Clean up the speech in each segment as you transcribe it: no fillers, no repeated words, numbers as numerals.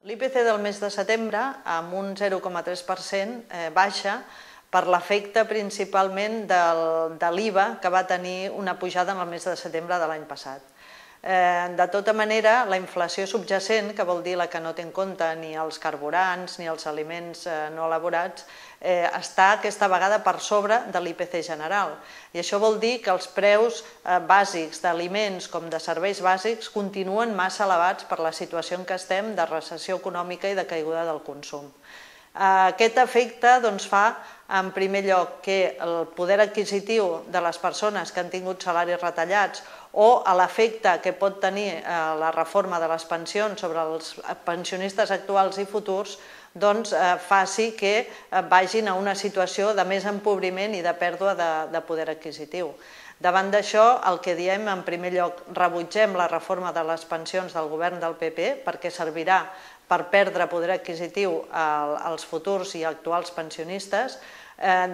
L'IPC del mes de setembre, amb un 0,3%, baixa per l'efecte principalment de l'IVA que va tenir una pujada en el mes de setembre de l'any passat. De tota manera, la inflació subjacent, que vol dir la que no té en compte ni els carburants ni els aliments no elaborats, està aquesta vegada per sobre de l'IPC general. I això vol dir que els preus bàsics d'aliments com de serveis bàsics continuen massa elevats per la situació en què estem de recessió econòmica i de caiguda del consum. Aquest efecte fa, en primer lloc, que el poder adquisitiu de les persones que han tingut salaris retallats o l'efecte que pot tenir la reforma de les pensions sobre els pensionistes actuals i futurs faci que vagin a una situació de més empobriment i de pèrdua de poder adquisitiu. Davant d'això, el que diem, en primer lloc, rebutgem la reforma de les pensions del govern del PP perquè servirà per perdre poder adquisitiu als futurs i actuals pensionistes.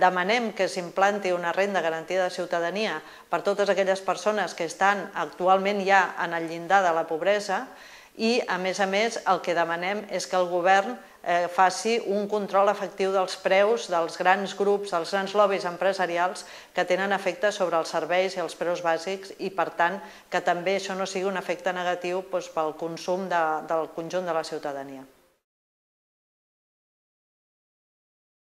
Demanem que s'implanti una renda garantida de ciutadania per totes aquelles persones que estan actualment ja en el llindar de la pobresa i, a més, el que demanem és que el govern faci un control efectiu dels preus dels grans grups, dels grans lobbies empresarials que tenen efecte sobre els serveis i els preus bàsics i, per tant, que també això no sigui un efecte negatiu pel consum del conjunt de la ciutadania.